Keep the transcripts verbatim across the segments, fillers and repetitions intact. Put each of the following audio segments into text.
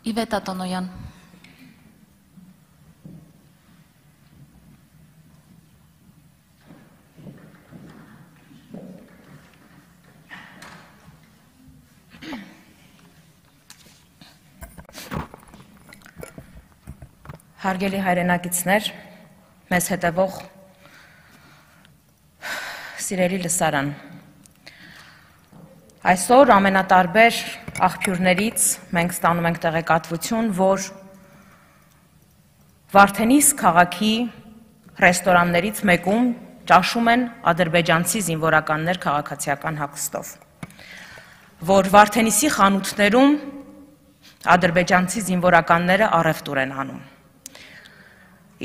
Իվետա Տոնոյան։ Հարգելի հայրենակիցներ, մեզ հետևող սիրելի լսարան։ Այսօր ամենատարբեր աղբյուրներից մենք ստանում ենք տեղեկատվություն, որ Վարդենիս քաղաքի ռեստորաններից մեկում ճաշում են ադրբեջանցի զինվորականներ քաղաքացիական հագուստով, որ Վարդենիսի խանութներում ադրբեջանցի զինվորականները առևտուր են անում։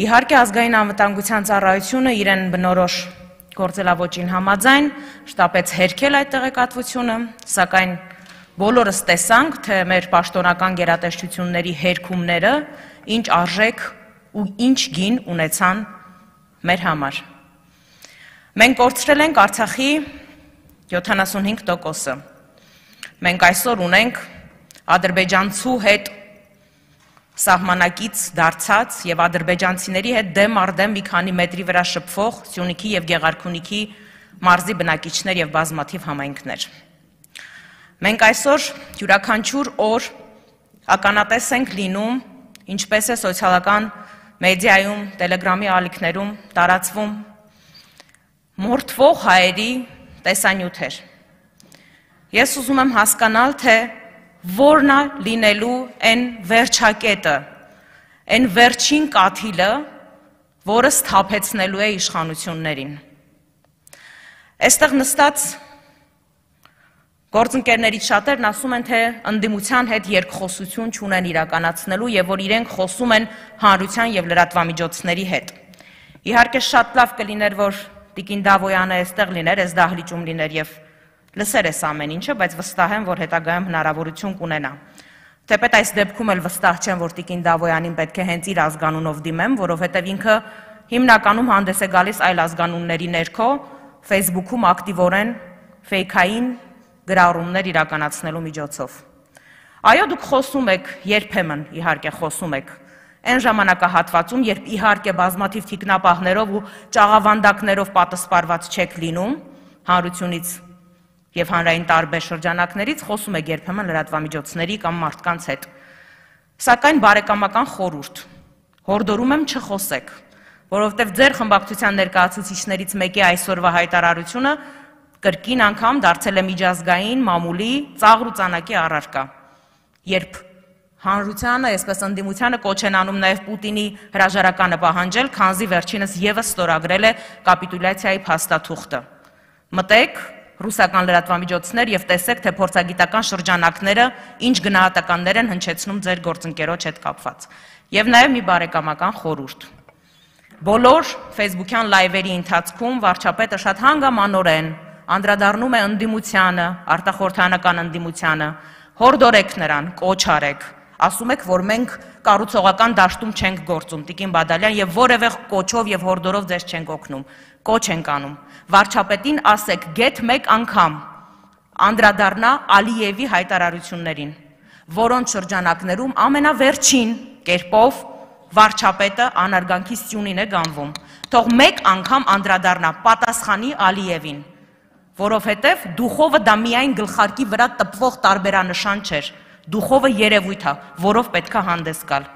Իհարկե ազգային անվտանգության ծառայությունը իրեն բնորոշ գործելավոճին համաձայն շտապեց հերքել այդ տեղեկատվությունը, սակայն բոլորս տեսանք, թե մեր պաշտոնական գերատեսչությունների հերքումները ինչ արժեք ու ինչ գին ունեցան մեր համար։ Մենք կորցրել ենք Արցախի յոթանասունհինգ տոկոսը։ Մենք այսօր ունենք ադրբեջանցու հետ սահմանակից դարձած եւ ադրբեջանցիների հետ դեմ առ դեմ մի քանի մետրի վրա շփվող Սյունիքի եւ Գեղարքունիքի մարզի բնակիչներ եւ բազմաթիվ համայնքներ։ Մենք այսօր յուրաքանչյուր օր ականատես ենք լինում, ինչպես է սոցիալական մեդիայում, տելեգրամի ալիքներում տարածվում մորթվող հայերի տեսանյութեր։ Ես ուզում եմ հասկանալ, թե որն է լինելու այն վերջակետը, այն վերջին կաթիլը, որը սթափեցնելու է իշխանություններին։ Այստեղ նստած գործընկերներից շատերն ասում են, թե ընդդիմության հետ երկխոսություն չունեն իրականացնելու եւ որ իրենք խոսում են հանրության եւ լրատվամիջոցների հետ։ Իհարկե շատ լավ կլիներ, որ Տիկին Դավոյանը այստեղ լիներ, այս դահլիճում լիներ եւ լսեր ես ամեն ինչը, բայց վստահ եմ, որ հետագայում հնարավորություն կունենա։ Թեպետ այս դեպքում էլ վստահ չեմ, որ Տիկին Դավոյանին պետք է հենց իր ազգանունով դիմեմ, որովհետև ինքը հիմնականում հանդես է գալիս այլ ազգանունների ներքո, Facebook-ում ակտիվորեն ֆեյքային գրառումներ իրականացնելու միջոցով։ Այո, դուք խոսում եք, երբեմն իհարկե խոսում եք, այն ժամանակահատվածում, երբ իհարկե բազմաթիվ թիկնապահներով ու ճաղավանդակներով պատասպարված չեք լինում հանրությունից եւ հանրային տարբեր շրջանակներից, խոսում եք երբեմն լրատվամիջոցների կամ մարդկանց հետ։ Սակայն բարեկամական խորհուրդ, հորդորում եմ չխոսեք, որովհետեւ ձեր խմբակցության ներկայացուցիչներից մեկի այսօրվա հայտարարությունը կրկին անգամ դարձել է միջազգային մամուլի ծաղր ու ծանակի առարկա, երբ հանրությանը, այսպես ընդդիմությանը կոչ են անում նաեւ Պուտինի հրաժարականը պահանջել, քանզի վերջինս եւս ստորագրել է կապիտուլյացիայի փաստաթուղթը։ Մտեք ռուսական լրատվամիջոցներ եւ տեսեք, թե փորձագիտական շրջանակները ինչ գնահատականներ են հնչեցնում ձեր գործընկերոջ հետ կապված։ Եվ նաեւ մի բարեկամական խորհուրդ։ Բոլոր Facebook-յան լայվերի ընթացքում վարչապետը շատ հանգամանորեն անդրադառնում է ընդդիմությանը, արտախորհրդանական ընդդիմությանը, հորդորեք նրան, կոչ արեք, ասում եք, որ մենք կառուցողական դաշտում չենք գործում, Տիկին Բադալյան, եւ որևէ կոչով եւ հորդորով ձեզ չենք օգնում, կոչ ենք անում։ Վարչապետին ասեք գեթ մեկ անգամ անդրադառնա Ալիևի հայտարարություններին, որոնց շրջանակներում ամենավերջին կերպով վարչապետը անարգանքի սյունին է գանվում։ Թող մեկ անգամ անդրադառնա պատասխանի Ալիևին, որովհետև դուխովը դա միայն գլխարկի վրա տպվող տարբերանշան չէր, դուխովը երևույթ է, որով պետք է հանդես գալ։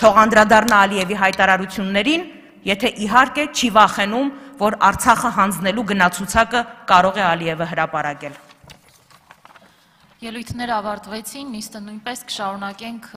Թող անդրադառնա Ալիևի հայտարարություններին, եթե իհարկե չի վախենում, որ Արցախը հանձնելու գնացուցակը կարող է Ալիևը հրապարակել։ Ելույթները ավարտվեցին, նիստը նույնպես կշարունակենք